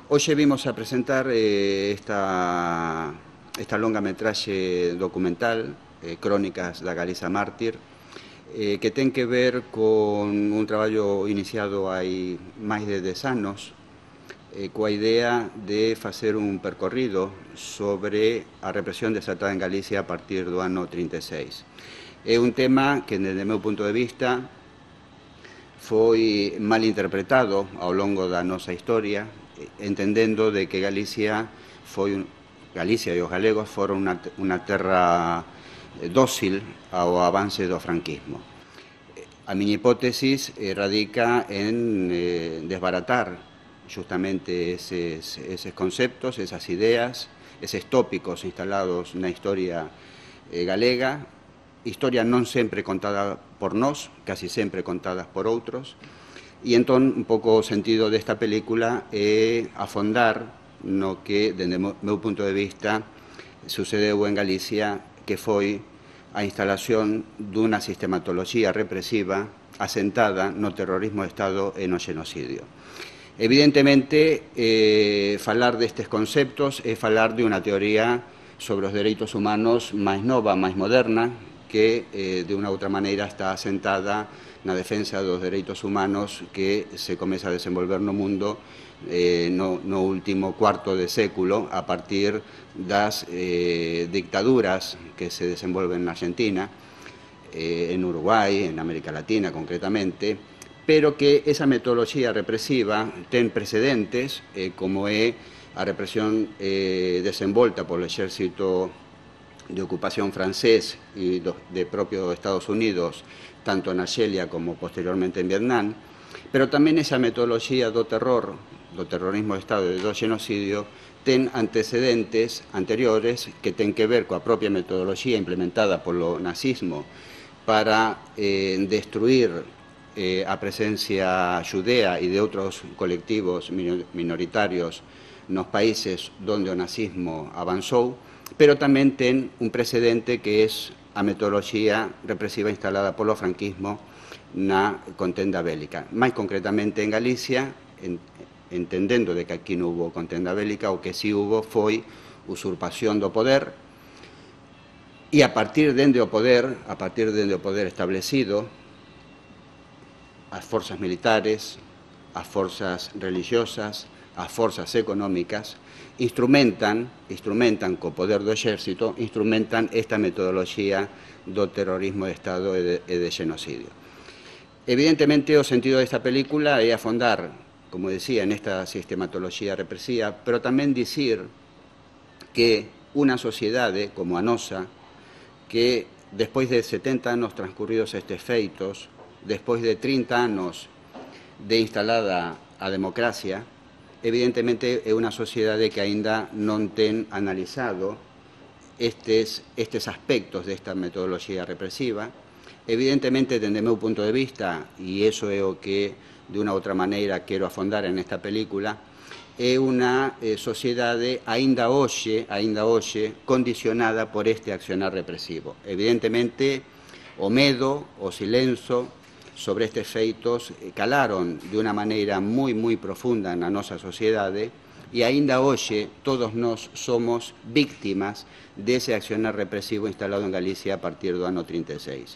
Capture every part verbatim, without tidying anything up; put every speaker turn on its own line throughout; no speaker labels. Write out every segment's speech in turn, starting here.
Hoxe vimos a presentar eh, esta, esta longametraxe documental, eh, Crónicas da Galiza Mártir, eh, que ten que ver con un traballo iniciado hai máis de dez anos, eh, coa idea de facer un percorrido sobre a represión desatada en Galicia a partir do ano trinta e seis. É un tema que, desde o meu punto de vista, foi mal interpretado ao longo da nosa historia, entendendo de que Galicia foi Galicia e os galegos foron unha, unha terra dócil ao avance do franquismo. A miña hipótesis radica en eh, desbaratar justamente eses, eses conceptos, esas ideas, eses tópicos instalados na historia eh, galega, historia non sempre contada por nós, casi sempre contadas por outros, e entón un pouco o sentido desta película é afondar no que, dende o meu punto de vista, sucedeu en Galicia, que foi a instalación dunha sistematoloxía represiva asentada no terrorismo de Estado e no xenocidio. Evidentemente, eh, falar destes conceptos é falar de unha teoría sobre os dereitos humanos máis nova, máis moderna, que eh, de unha outra maneira está asentada na defensa dos dereitos humanos que se comeza a desenvolver no mundo eh, no, no último cuarto de século a partir das eh, dictaduras que se desenvolven na Argentina, eh, en Uruguai, en América Latina concretamente, pero que esa metodoloxía represiva ten precedentes eh, como é a represión eh, desenvolta polo exército de ocupación francés e do, de propio Estados Unidos, tanto en Argelia como posteriormente en Vietnam, pero tamén esa metodoloxía do terror, do terrorismo de Estado e do xenocidio, ten antecedentes anteriores que ten que ver coa propia metodoloxía implementada polo nazismo para eh, destruir eh, a presencia xudea e de outros colectivos minoritarios nos países onde o nazismo avanzou, pero tamén ten un precedente que é a metodoloxía represiva instalada polo franquismo na contenda bélica. Mais concretamente en Galicia, en, entendendo de que aquí non hubo contenda bélica, o que si hubo foi usurpación do poder, e a partir dende o poder, a partir dende o poder establecido, as forzas militares, as forzas religiosas, as forzas económicas, instrumentan, instrumentan co poder do exército, instrumentan esta metodoloxía do terrorismo de Estado e de, e de xenocidio. Evidentemente, o sentido desta película é afondar, como decía, nesta sistematoloxía represiva, pero tamén dicir que unha sociedade como a nosa, que despois de setenta anos transcurridos estes feitos, despois de trinta anos de instalada a democracia, evidentemente é unha sociedade que aínda non ten analizado estes, estes aspectos desta metodoloxía represiva. Evidentemente, dende o meu punto de vista, e iso é o que de unha outra maneira quero afondar en esta película, é unha eh, sociedade aínda hoxe, aínda hoxe condicionada por este accionar represivo. Evidentemente, o medo, o silenzo sobre estes feitos calaron de unha maneira moi, moi profunda na nosa sociedade e aínda hoxe todos nós somos víctimas dese accionar represivo instalado en Galicia a partir do ano trinta e seis.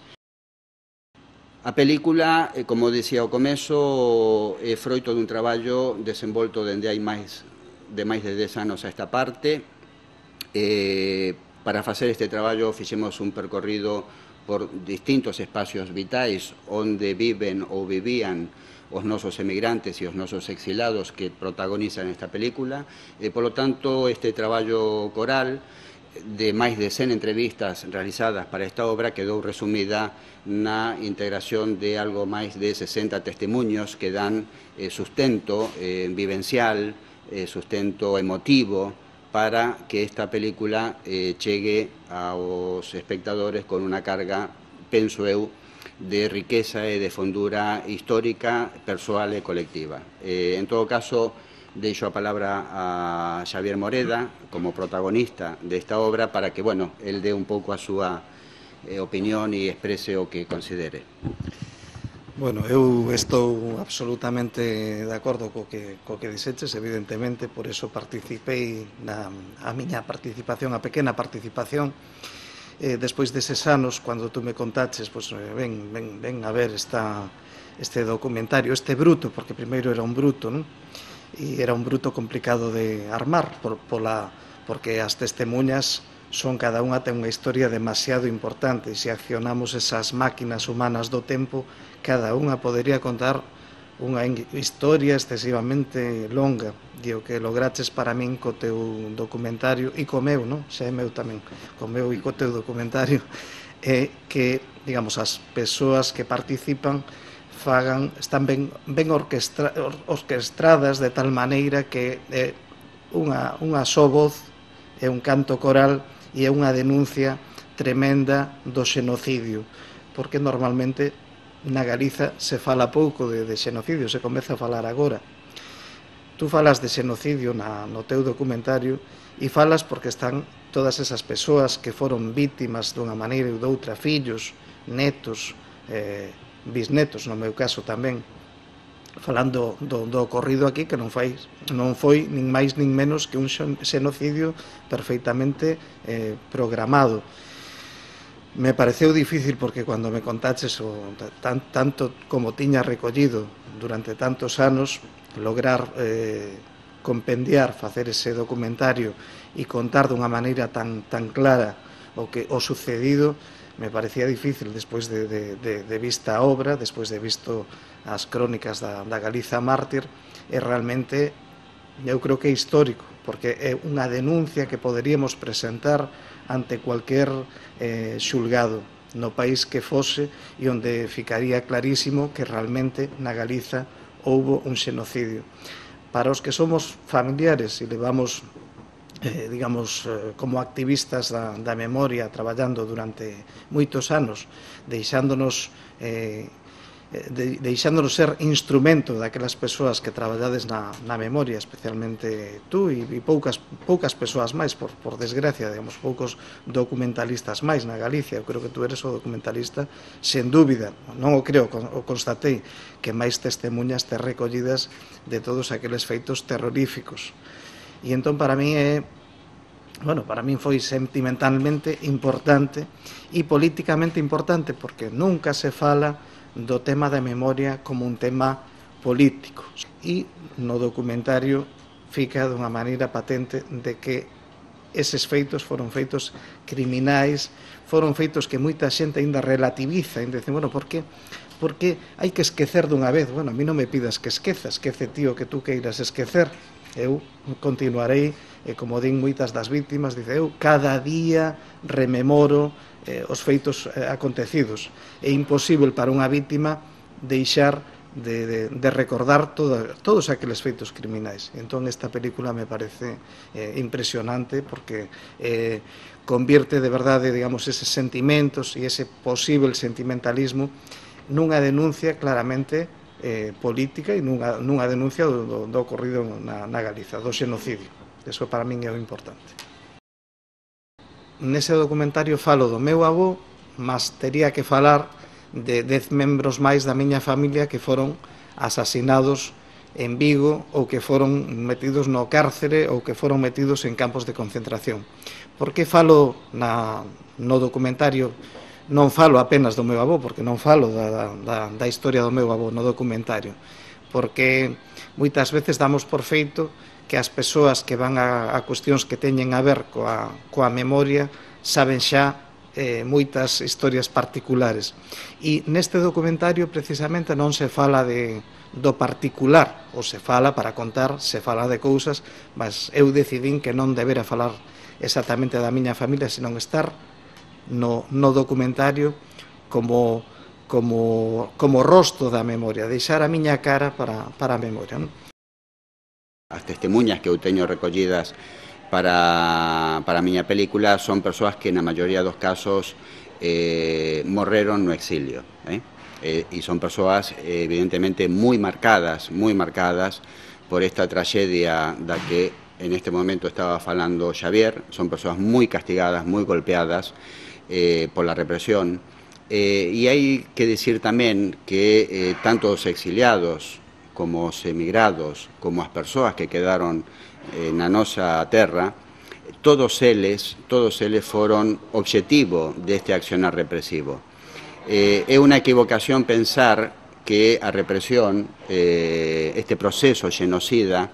A película, como dicía ao comezo, é froito dun traballo desenvolto dende hai máis de máis de dez anos a esta parte. Eh, para facer este traballo fixemos un percorrido por distintos espacios vitais onde viven ou vivían os nosos emigrantes e os nosos exilados que protagonizan esta película. E, polo tanto, este traballo coral de máis de cen entrevistas realizadas para esta obra quedou resumida na integración de algo máis de sesenta testemunhos que dan eh, sustento eh, vivencial, eh, sustento emotivo, para que esta película eh, chegue aos espectadores con unha carga, penso eu, de riqueza e de fondura histórica, persoal e colectiva. Eh, en todo caso, deixo a palabra a Xavier Moreda como protagonista desta obra para que, bueno, el dé un pouco a súa eh, opinión e exprese o que considere.
Bueno, eu estou absolutamente de acordo co que, co que dixeches, evidentemente, por eso participei na a miña participación, a pequena participación, eh, despois deses anos, cando tú me contaches, pues, eh, ven, ven, ven a ver esta, este documentario, este bruto, porque primeiro era un bruto, non? E era un bruto complicado de armar, por, pola, porque as testemunhas son cada unha ten unha historia demasiado importante, e se accionamos esas máquinas humanas do tempo, cada unha podería contar unha historia excesivamente longa, e o que lograches para min co teu documentario e co meu, non? Xa é meu tamén, co meu e co teu documentario, é que, digamos, as persoas que participan fagan, están ben, ben orquestra, orquestradas de tal maneira que é unha, unha só voz, é un canto coral e é unha denuncia tremenda do xenocidio, porque normalmente na Galiza se fala pouco de, de xenocidio, se comeza a falar agora. Tú falas de xenocidio na, no teu documentario e falas porque están todas esas persoas que foron vítimas dunha maneira ou doutra, fillos, netos, eh, bisnetos, no meu caso tamén, falando do, do ocorrido aquí, que non foi, non foi nin máis nin menos que un xenocidio perfeitamente eh, programado. Me pareceu difícil porque cando me contaches o, tan, tanto como tiña recollido durante tantos anos, lograr eh, compendiar, facer ese documentario e contar dunha maneira tan, tan clara o que o sucedido, me parecía difícil despois de, de, de, de vista a obra, despois de visto as crónicas da, da Galiza mártir, e realmente eu creo que é histórico, porque é unha denuncia que poderíamos presentar ante cualquier eh, xulgado no país que fose e onde ficaría clarísimo que realmente na Galiza houbo un xenocidio. Para os que somos familiares e levamos Eh, digamos, eh, como activistas da, da memoria, traballando durante moitos anos, deixándonos, eh, de, deixándonos ser instrumento daquelas persoas que traballades na, na memoria, especialmente tú e, e poucas, poucas persoas máis, por, por desgracia, digamos, poucos documentalistas máis na Galicia. Eu creo que tú eres o documentalista, sen dúbida, non o creo, o constatei, que máis testemunhas te recollidas de todos aqueles feitos terroríficos. E entón para mí é, bueno, para mí foi sentimentalmente importante e políticamente importante, porque nunca se fala do tema da memoria como un tema político. E no documentario fica dunha maneira patente de que eses feitos foron feitos criminais, foron feitos que moita xente ainda relativiza, ainda dice, bueno, por que? Porque hai que esquecer dunha vez. Bueno, a mí non me pidas que esqueza, esquece tío que tú queiras esquecer. Eu continuarei, e como din moitas das vítimas, dice, eu cada día rememoro eh, os feitos eh, acontecidos. É imposible para unha vítima deixar de, de, de recordar todo, todos aqueles feitos criminais. Entón esta película me parece eh, impresionante, porque eh, convierte de verdade, digamos, eses sentimentos e ese posible sentimentalismo nunha denuncia claramente eh, política e nunha, nunha denuncia do, do, do ocorrido na, na Galiza, do xenocidio. Eso para min é o importante. Nese documentario falo do meu avó, mas tería que falar de dez membros máis da miña familia que foron asasinados en Vigo ou que foron metidos no cárcere ou que foron metidos en campos de concentración. Por que falo na, no documentario? Non falo apenas do meu avó, porque non falo da, da, da historia do meu avó no documentario, porque moitas veces damos por feito que as persoas que van a, a cuestións que teñen a ver coa, coa memoria saben xa eh, moitas historias particulares. E neste documentario precisamente non se fala de, do particular, ou se fala para contar, se fala de cousas, mas eu decidín que non debera falar exactamente da miña familia, senón estar No, no documentario como, como, como rosto da memoria, deixar a miña cara para, para a memoria. Non?
As testemunhas que eu teño recollidas para, para a miña película son persoas que na maioría dos casos eh, morreron no exilio. Eh? Eh, e son persoas eh, evidentemente moi marcadas, moi marcadas por esta tragedia da que en este momento estaba falando Xavier. Son persoas moi castigadas, moi golpeadas, Eh, por la represión, Eh, y hay que decir tamén que eh, tanto os exiliados como os emigrados, como as persoas que quedaron eh, na nosa terra, todos eles, todos eles foron obxectivo deste accionar represivo. Eh, é unha equivocación pensar que a represión, eh, este proceso xenocida,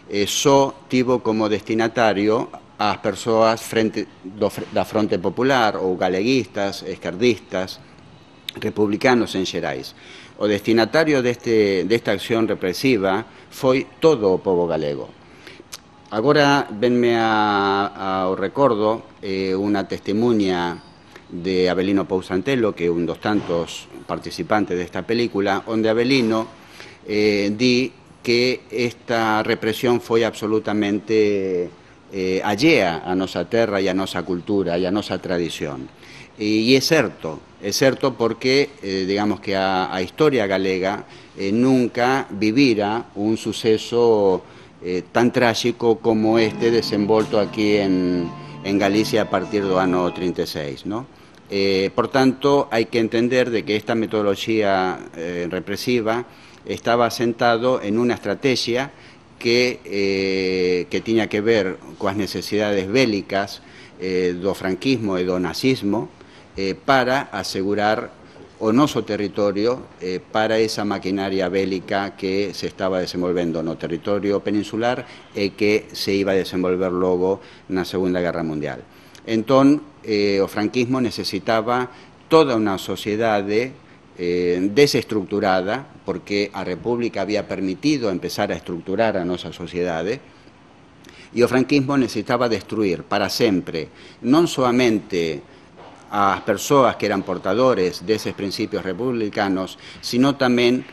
eh, só tivo como destinatario as persoas frente do, da Fronte Popular ou galeguistas, esquerdistas, republicanos en xerais. O destinatario deste, desta acción represiva foi todo o povo galego. Agora venme a, ao recordo eh, unha testemunha de Avelino Pousantelo, que é un dos tantos participantes desta película, onde Avelino eh, di que esta represión foi absolutamente eh, allea a nosa terra e a nosa cultura e a nosa tradición. E, e é certo, é certo porque, eh, digamos que a, a historia galega eh, nunca vivira un suceso eh, tan tráxico como este desenvolto aquí en, en Galicia a partir do ano trinta e seis, ¿no? Eh, por tanto, hai que entender de que esta metodoloxía eh, represiva estaba asentado en unha estrategia que, eh, que tiña que ver coas necesidades bélicas eh, do franquismo e do nazismo eh, para asegurar o noso territorio eh, para esa maquinaria bélica que se estaba desenvolvendo no territorio peninsular e que se iba a desenvolver logo na Segunda Guerra Mundial. Entón, eh, o franquismo necesitaba toda unha sociedade Eh, desestructurada, porque a República había permitido empezar a estructurar a nosa sociedade, e o franquismo necesitaba destruir para sempre non soamente as persoas que eran portadores deses principios republicanos, sino tamén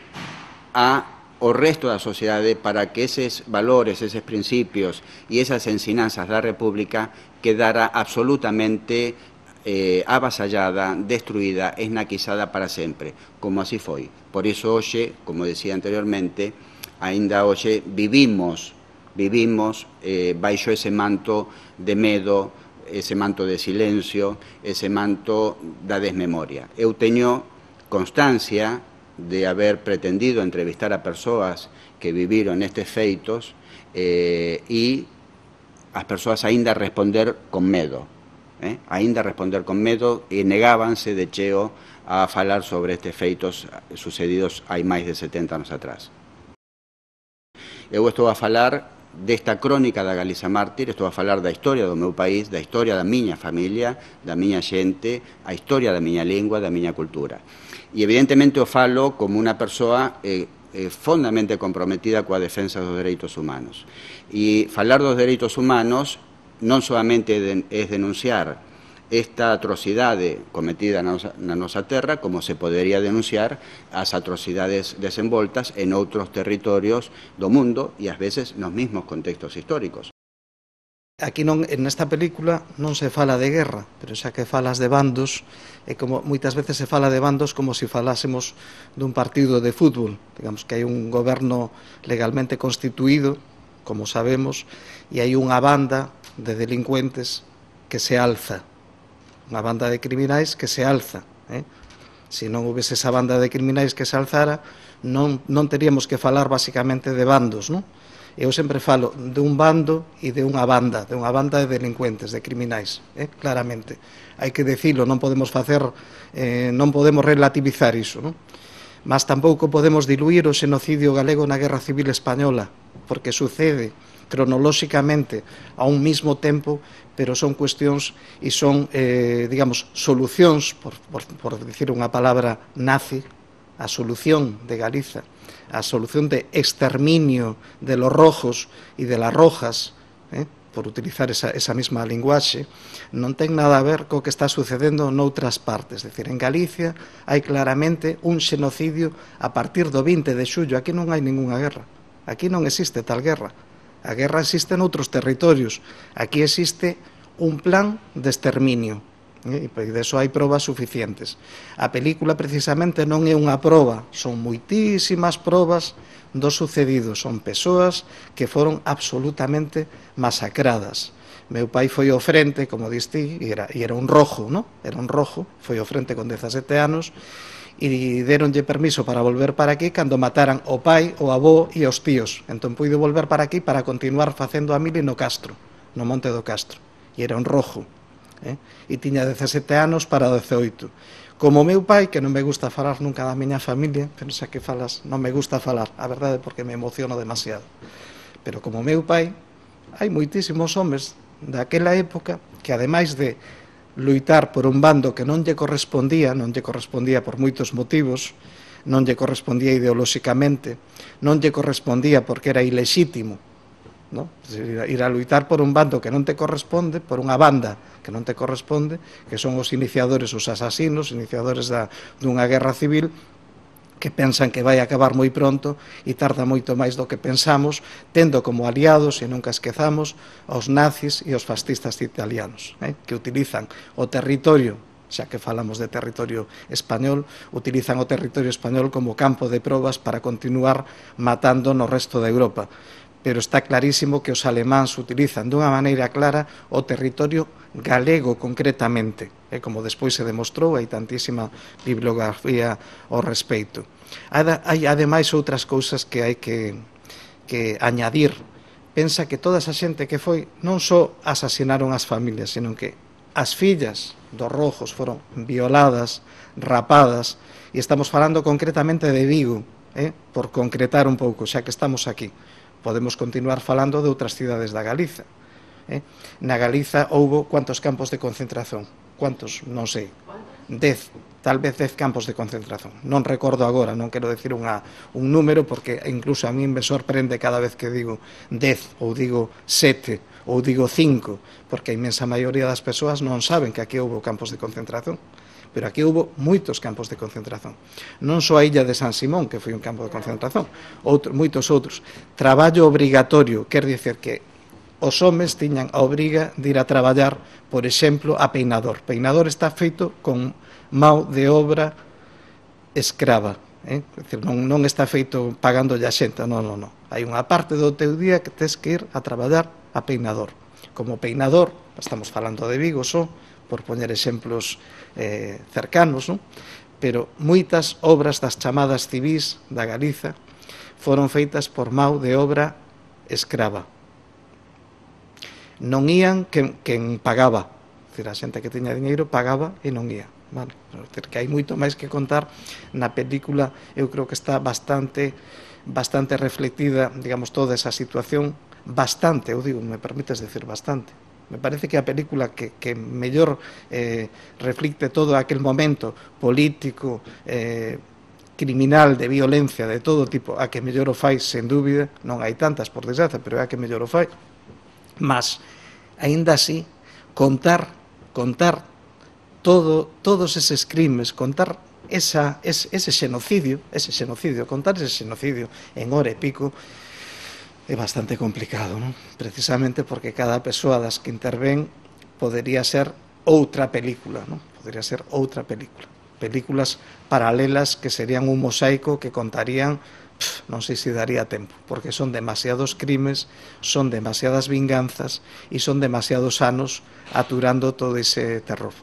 a o resto da sociedade para que eses valores, eses principios e esas ensinanzas da República quedara absolutamente Eh, avasallada, destruída, esnaquizada para sempre, como así foi. Por iso hoxe, como decía anteriormente, aínda hoxe vivimos, vivimos eh, baixo ese manto de medo, ese manto de silencio, ese manto da desmemoria. Eu teño constancia de haber pretendido entrevistar a persoas que viviron estes feitos eh, e as persoas aínda responder con medo. Eh, aínda responder con medo e negábanse de cheo a falar sobre estes feitos sucedidos hai máis de setenta anos atrás. Eu estou a falar desta crónica da Galiza Mártir, estou a falar da historia do meu país, da historia da miña familia, da miña xente, a historia da miña lingua, da miña cultura. E evidentemente o falo como unha persoa eh, eh, fondamente comprometida coa defensa dos dereitos humanos. E falar dos dereitos humanos non solamente é denunciar esta atrocidade cometida na nosa, na nosa terra, como se podería denunciar as atrocidades desenvoltas en outros territorios do mundo e ás veces nos mesmos contextos históricos.
Aquí non, nesta película non se fala de guerra, pero xa que falas de bandos, e como moitas veces se fala de bandos como se falásemos dun partido de fútbol. Digamos que hai un goberno legalmente constituído, como sabemos, e hai unha banda de delincuentes que se alza, unha banda de criminais que se alza. Eh? Se non houvese esa banda de criminais que se alzara, non, non teríamos que falar basicamente de bandos, non? Eu sempre falo de un bando e de unha banda, de unha banda de delincuentes, de criminais, eh? Claramente. Hai que dicilo, non podemos facer, eh, non podemos relativizar iso, non? Mas tampouco podemos diluir o xenocidio galego na Guerra Civil Española, porque sucede cronolóxicamente a un mismo tempo, pero son cuestións e son, eh, digamos, solucións, por, por, por dicir unha palabra nazi, a solución de Galiza, a solución de exterminio de los rojos e de las rojas, eh, por utilizar esa, esa mesma linguaxe, non ten nada a ver co que está sucedendo noutras partes. É dicir, en Galicia hai claramente un xenocidio a partir do vinte de xullo. Aquí non hai ningunha guerra. Aquí non existe tal guerra. A guerra existe noutros territorios. Aquí existe un plan de exterminio E deso hai probas suficientes. A película precisamente non é unha proba, son moitísimas probas do sucedido, son persoas que foron absolutamente masacradas. Meu pai foi ao frente, como diste, e era, e era un rojo, ¿no? Era un rojo, foi ao frente con dezasete anos, e deronlle permiso para volver para aquí cando mataran o pai, o avó e os tíos. Entón puido volver para aquí para continuar facendo a mili no Castro, no Monte do Castro. E era un rojo. Eh? E tiña dezasete anos para dezaoito. Como meu pai, que non me gusta falar nunca da miña familia, pensa que falas, non me gusta falar, a verdade, porque me emociono demasiado. Pero como meu pai, hai moitísimos homes daquela época que, ademais de luitar por un bando que non lle correspondía, non lle correspondía por moitos motivos, non lle correspondía ideolóxicamente, non lle correspondía porque era ilexítimo, ¿no? Ir a luitar por un bando que non te corresponde, por unha banda que non te corresponde, que son os iniciadores, os asasinos, iniciadores da, dunha guerra civil, que pensan que vai acabar moi pronto e tarda moito máis do que pensamos, tendo como aliados, e nunca esquezamos, os nazis e os fascistas italianos, eh, que utilizan o territorio, xa que falamos de territorio español, utilizan o territorio español como campo de probas para continuar matando no resto de Europa. Pero está clarísimo que os alemáns utilizan dunha maneira clara o territorio galego concretamente, e como despois se demostrou, hai tantísima bibliografía ao respeito. Hai ademais outras cousas que hai que, que añadir. Pensa que toda esa xente que foi non só asasinaron as familias, sino que as fillas dos rojos foron violadas, rapadas, e estamos falando concretamente de Vigo, eh? Por concretar un pouco, xa que estamos aquí. Podemos continuar falando de outras cidades da Galiza. Eh? Na Galiza houbo cuantos campos de concentración? Cuantos? Non sei. Dez, tal vez dez campos de concentración. Non recordo agora, non quero decir unha, un número, porque incluso a mí me sorprende cada vez que digo dez, ou digo sete, ou digo cinco, porque a inmensa maioría das persoas non saben que aquí houbo campos de concentración. Pero aquí houve moitos campos de concentración. Non só a illa de San Simón, que foi un campo de concentración, outro, moitos outros. Traballo obrigatorio, quer dizer que os homes tiñan a obriga de ir a traballar, por exemplo, a peinador. Peinador está feito con mão de obra escrava. Eh? Decir, non, non está feito pagándolle a xente, non, non, non. Hai unha parte do teu día que tes que ir a traballar a peinador. Como peinador, estamos falando de Vigo só, por poñer exemplos eh, cercanos, non? Pero moitas obras das chamadas civís da Galiza foron feitas por mão de obra escrava. Non ían quen, quen pagaba, decir, a xente que tiña diñeiro pagaba e non ía. Vale? Decir, que hai moito máis que contar na película, eu creo que está bastante, bastante reflectida, digamos, toda esa situación, bastante, eu digo, me permites decir bastante. Me parece que a película que, que mellor eh, reflicte todo aquel momento político, eh, criminal, de violencia, de todo tipo, a que mellor o fai, sen dúbida, non hai tantas, por desgraza, pero é a que mellor o fai. Mas, aínda así, contar, contar todo, todos eses crimes, contar esa, ese, ese xenocidio, ese xenocidio, contar ese xenocidio en hora e pico, é bastante complicado, non? Precisamente porque cada persoa das que intervén podería ser outra película, non? Podería ser outra película. Películas paralelas que serían un mosaico que contarían, pff, non sei se daría tempo, porque son demasiados crimes, son demasiadas vinganzas e son demasiados anos aturando todo ese terror.